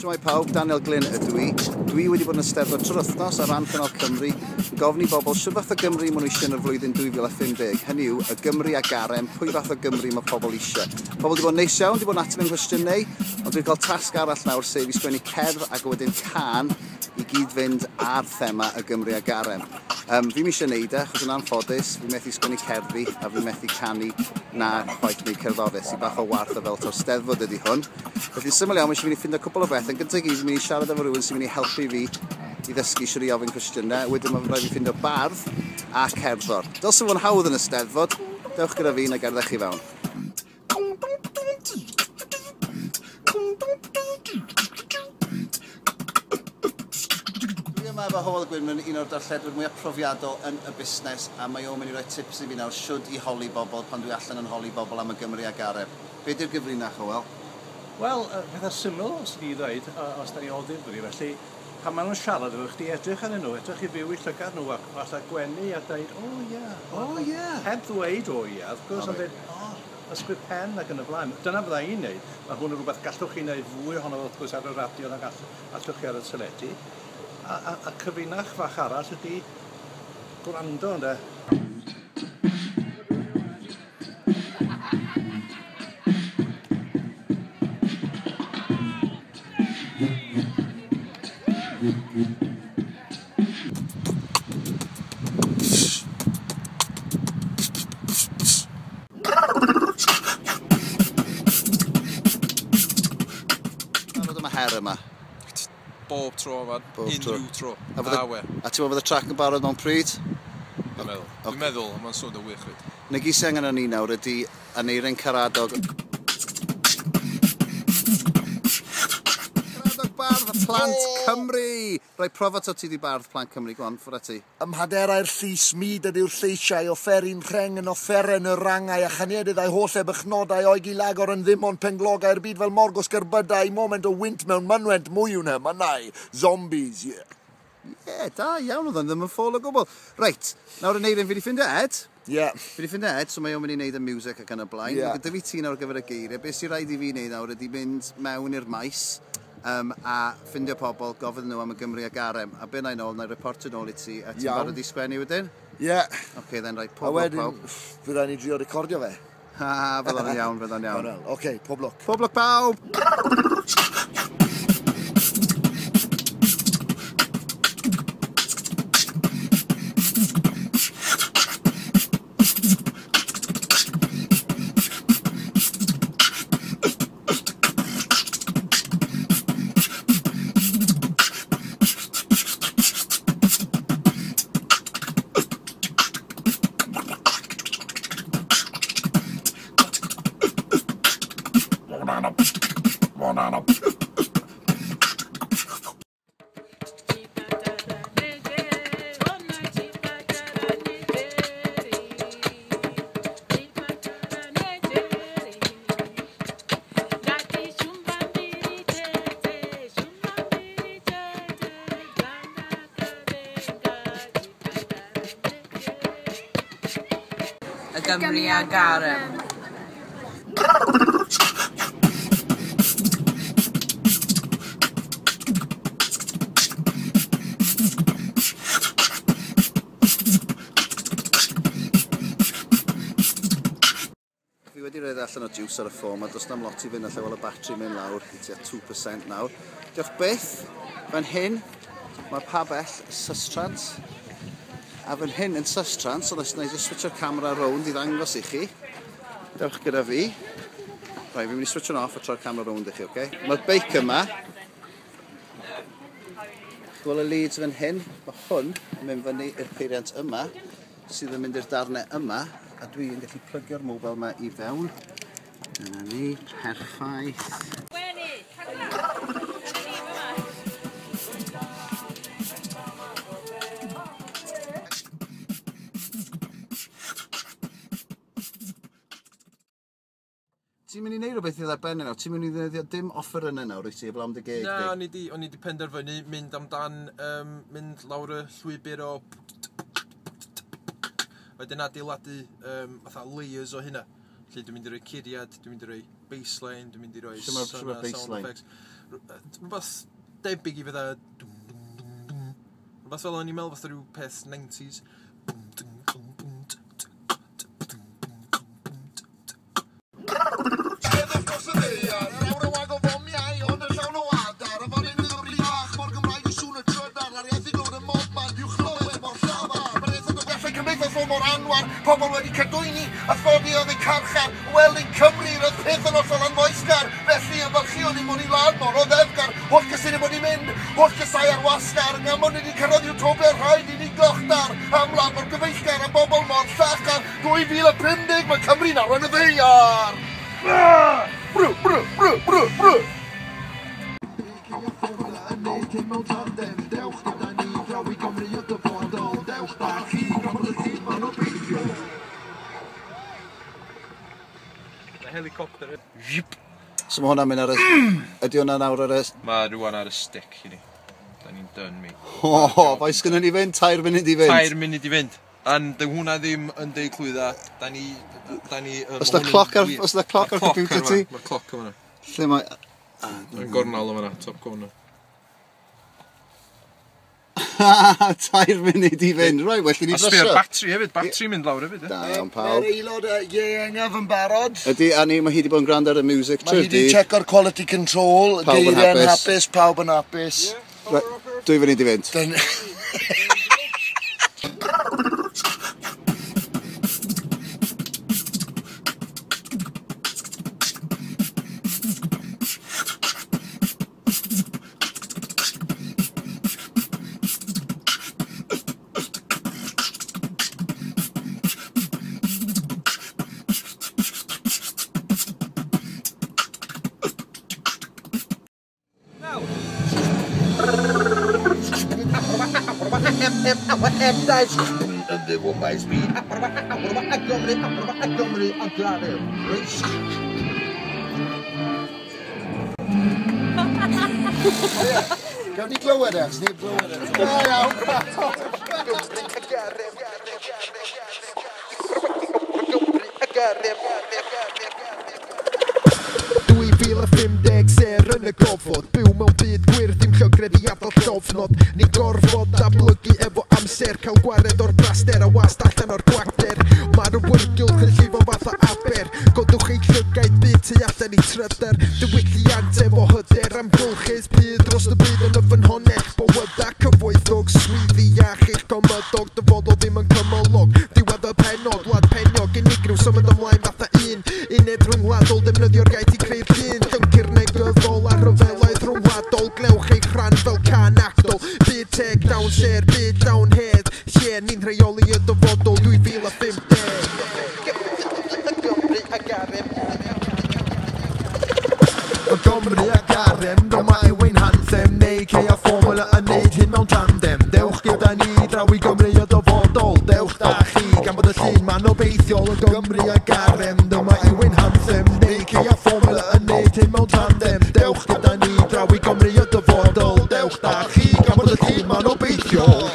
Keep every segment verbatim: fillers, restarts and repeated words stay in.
Shwmae pawb, Daniel Glyn ydw i. Dwi wedi bod yn Eisteddfod trwy'r wythnos ar ran Cynnal Cymru yn gofyn i bobl shwt fath o Gymru maen nhw eisiau yn y flwyddyn dwy fil a phum deg. Hynny yw, y Gymru a garem, pwy fath o Gymru mae pobl eisiau. Pobl wedi bod yn neis iawn, wedi bod yn ateb yn nghwestiynau, ond dwi'n cael tasg arall nawr, sef i sgwennu cerdd ac wedyn cân i gyd fynd ar thema y Gymru a garem. Um, fi'm eisiau neud e, achos yn anffodus, fi methu sgwennu cerddi a fi methu canu na chwaith wneud cerddoriaeth, sy'n bach o warth o fel taw Steddfod ydy hwn. Felly syml iawn, mae eisiau fi ffindo cwpl o beth. Yn gyntaf i gyd, fi'n mynd i siarad efo rhywun sy'n mynd i helpu fi i ddysgu shwt i ofyn cwestiynau. Wedyn mae'n rhaid fi ffindo bardd a cerddor. Dylse fod yn hawdd yn y Steddfod. Dewch gyda fi na gerddech chi fewn. Dwi yma efo Hywel Gwynfryn, un o'r darlledwyr mwyaf profiadol yn y busnes, a mae o'n mynd i roi tips i fi nawr shwd i holi bobl pan dwi allan yn holi bobl am y Gymru a garem. Be di'r gyfrinach, Hywel? Wel, pethau syml, os ni ddweud, os da ni o ddifri, felly pan maen nhw'n siarad efo chdi, edrych arnyn nhw, edrych i fyw i llygad nhw, ac fatha gwenu a dweud, o ie, o ie. Heb ddweud o ie, wrth gwrs, ond dweud, o, ysgwyd pen ac yn y blaen. Dyna fydda i'n neud. Mae hwn yn rhywbeth gallwch chi wneud fwy ohono fo, wrth gwrs, ar y radio nag allwch chi ar y teledu. A, a, a cyfunach fach arall ydy gwrando, ynde? Barod am y her yma? Bob tro, man. Bob tro. Unrhyw tro. A fydde, Na we. A ti'n meddwl bod y trac yn barod mewn pryd? Dwi'n meddwl. Dwi'n meddwl, ond mae'n swnio wych fyd. Na gyd sy'n angen arnon ni nawr ydy Aneirin Karadog. Karadog Bardd Plant Cymru! Rai profa to ti di Bardd Plant Cymru, go on, ffwrdd â ti. Ym mhaderau'r llys mud ydyw'r lleisiau, offeryn rheng yn offeren y rangau, a chaniadydd a'i holl ebychnodau o'i gilagor yn ddim ond penglogau'r byd fel morgos gerbydau, moment o wynt mewn mynwent mwy yw'n hymynau. Zombies, yeah. Ie, yeah, da iawn oedd o'n ddim yn ffôl o gwbl. Reit, nawr Aneirin, fi di ffindio Ed. Ie. Yeah. Fi di ffindio Ed, so mae o'n mynd i wneud y music ac yn y blaen. Ie. Yeah. Gyda fi ti nawr ar gyfer y geiriau. Be sy'n rhaid i fi wneud nawr ydy mynd mewn i'r maes um, a ffindio pobl, gofyn nhw am y Gymru a garem. A be na i nôl, na i reportio nôl i ti, a ti'n Iawn. barod i sgwennu wedyn? Ie. Yeah. Oce, okay, then, right, A pob lwc wedyn, pawb. fydd rhaid ni drio recordio fe. Ha, fydd o'n iawn, fydd o'n iawn. Wel, oce, pob lwc. Pob lwc pawb! Y Gymru a garem. Fi wedi rhoi allan o juice ar y ffôn, a does na'm lot i fynd allan fel y batri mynd lawr i tua two percent nawr. Diolch byth, fan hyn mae pabell Sustrans. A fan hyn yn Sustrans, so na i just switcho'r camera rownd i ddangos i chi. Dewch gyda fi. Right, fi'n mynd i switcho'n off a troi'r camera rownd i chi, oce? Okay? Mae'r beic yma. Gweld y leads fan hyn. Mae hwn yn mynd fyny i'r peiriant yma, sydd yn mynd i'r darnau yma, a dwi'n gallu plygio'r mobile yma i fewn. Dyna ni, perffaith. Ti'n mynd i wneud rhywbeth i ddarbennu nawr? Ti'n mynd i ddefnyddio dim offer yna nawr, wyt ti, heblaw am dy geg Na, di? o'n i di, o'n i di penderfynu mynd amdan, um, mynd lawr y llwybr o wedyn adeiladu um, fatha layers o hynna. Felly dwi'n mynd i roi curiad, dwi'n mynd i roi bassline, dwi'n mynd i roi Shwt ma- shwt ma sound bassline? effects. Rhywbeth debyg i fydda... dwm, dwm, dwm, dwm. Rhywbeth fel o'n i'n meddwl fatha rhyw peth nineties. Bwm, dwm, dwm, bwm, t, t, t, bwm, bwm, bwm, t, t. Steddwch dros y ddaear, yr awr yn wag o fomiau, ond yn llawn o adar. Y fan hyn Gymru fach, mor Gymraeg y sŵn y trydar, a'r iaith i glywed y mobman, i'w chlywed mor llafar. Mae'r iaith yn gallai cymdeithas fod mor anwar, pobl wedi cadwyni, a thodi oedd eu carchar. Wel, yn Cymru, roedd peth yn hollol anfoesgar, felly ymfalchïon ni mod i wlad mor oddefgar. Holl gysyniad bod ni'n mynd, holl gysau ar wasgar, ngamon ni wedi cyrraedd Utopia, rhaid i ni glochdar. Am wlad mor gyfeillgar, am bobl mor llachar, dwy fil a pum deg mae Cymru'n arwain y ddaear. Brw, brw, brw, brw, brw. Helicopter. So mae hwnna'n mynd ar y... Ydy hwnna nawr ar y... Mae rwan ar y stick i ni. Da ni'n done, mate. O, faint sgynnon ni fynd? Tair munud i fynd. Tair munud i fynd. A'n dy hwnna ddim yn deud clwydda. Da ni... Da ni... Oes 'na cloc ar- oes 'na cloc ar computer ti? Mae'r cloc yma. Lle mae... Yn gornel yma, top corner. Tair munud i fynd. Right, well i ni A sbio ar brysio. batri hefyd, batri mynd lawr hefyd. ie. Da iawn pawb. Mae'r aelod ieuengaf yn barod. Ydy, a ni, mae hi wedi bod yn gwrando ar y music Mae hi trwy'r wedi dydd. checko'r quality control, Pawb yn geiriau'n hapus. hapus, pawb yn hapus. Right, dwy funud i fynd. Dyn- Gawn ni glywed e, achos neb glywed e. Da iawn. dwy fil a phum deg ser yn y gofod. Byw mewn byd gwyrdd, dim llygredd i adael llofnod. Ni'n gorfod datblygu efo amser, cael gwared o'r braster a wast allan o'r gwacter. Mae'r awyrgylch yn llifo fatha aber. Godwch eich llygaid byd tu allan i tryder. Diwylliant efo hyder, amgylchedd byd dros y byd yn y ffynhonnell. Bywyda cyfoethog, swyddi iach eich gymydog. Dyfodol ddim yn cymylog. Diwedd y pennod, wlad peniog, unigryw, symud ymlaen fatha un. Uned rhyngwladol, defnyddio'r iaith i creu'r llun. Llyncu'r negyddol a rhyfeloedd rhyngwladol. Gnewch eich rhan fel can actol. Byd teg, llawn ser, byd llawn hedd. Lle ni'n rheoli y dyfodol dwy fil a phum deg. Y Gymru a garem, dyma yw ein anthem. Neu ceia fformula yn neud hyn mewn tandem. Dewch gyda ni draw i Gymru y dyfodol. Dewch da chi, gan bod y llun ma'n obeithiol. Y Gymru a garem, dyma yw ein anthem. Neu ceia fformula yn neud hyn mewn tandem. Dewch gyda ni draw i Gymru y dyfodol. Dewch da chi, gan bod y llun ma'n obeithiol.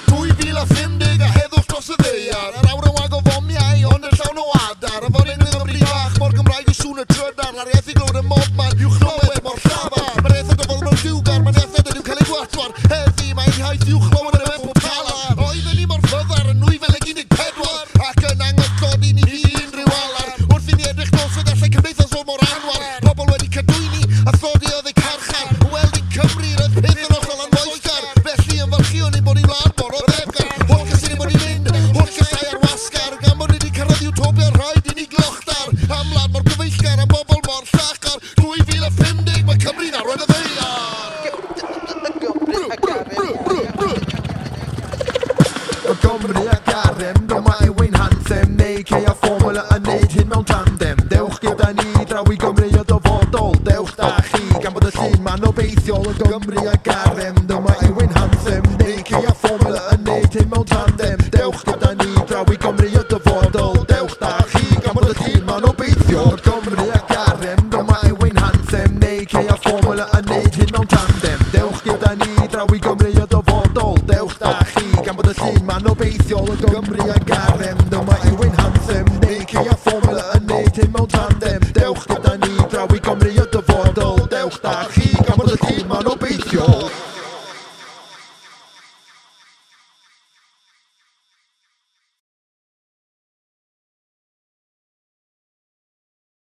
dwy fil a phum deg a heddwch dros y ddaear. Yr awr yn wag o fomiau, ond yn llawn o adar. Y fan hyn Gymru fach, mor Gymraeg y sŵn y trydar. A'r iaith i glywed y mobman, i'w chlywed mor llafar. Mae'r iaith yn dyfod mewn lliwgar, mae'n iaith nad ydyw cael ei gwatwar. Heddi mae'n iaith i'w chlywed yn y pob talar. Oedden ni mor fyddar yn nwy fil ag un deg pedwar, ac yn anghyllod i ni unrhyw alar. Wrth i ni edrych nos fe gallai cymdeithas fod mor anwar. Pobl wedi cadwyni, a thodi oedd eu carchar. Wel, yn Cymru, roedd peth yn hollol anfoesgar. Felly ymfalchïon ein bod ni'n wlad mor oddefgar. Holl gysyniad bod ni'n mynd, holl gysau ar wasgar. Gan bod ni wedi cyrraedd Utopia, rhaid i ni glochdar. Am wlad mor gyfeillgar, am bobl mor llachar. dwy fil a phum deg mae Cymru'n arwain y ddaear. Brw, brw, brw, brw, brw. Y Gymru a garem, dyma yw ein anthem. Neu ceia fformula yn neud hyn mewn tandem. Dewch gyda ni draw i Gymru y dyfodol. Dewch da chi, gan bod y llun ma'n obeithiol. Y Gymru a garem, dyma yw ein anthem. Neu ceia fformula yn neud hyn mewn tandem. Dewch gyda ni draw i Gymru y dyfodol. Dewch da chi, gan bod y llun ma'n obeithiol. Y Gymru a garem, dyma yw ein anthem. Neu ceia fformula yn neud hyn mewn tandem. Dewch gyda ni draw i Gymru y dyfodol. Dewch da chi, gan bod y llun ma'n obeithiol. obeithiol. Y Gymru a garem, dyma yw ein anthem. Nike a Formula yn neud hyn mewn tandem. Dewch gyda ni draw i Gymru y dyfodol. Dewch da chi gan bod y tîm ma'n obeithiol.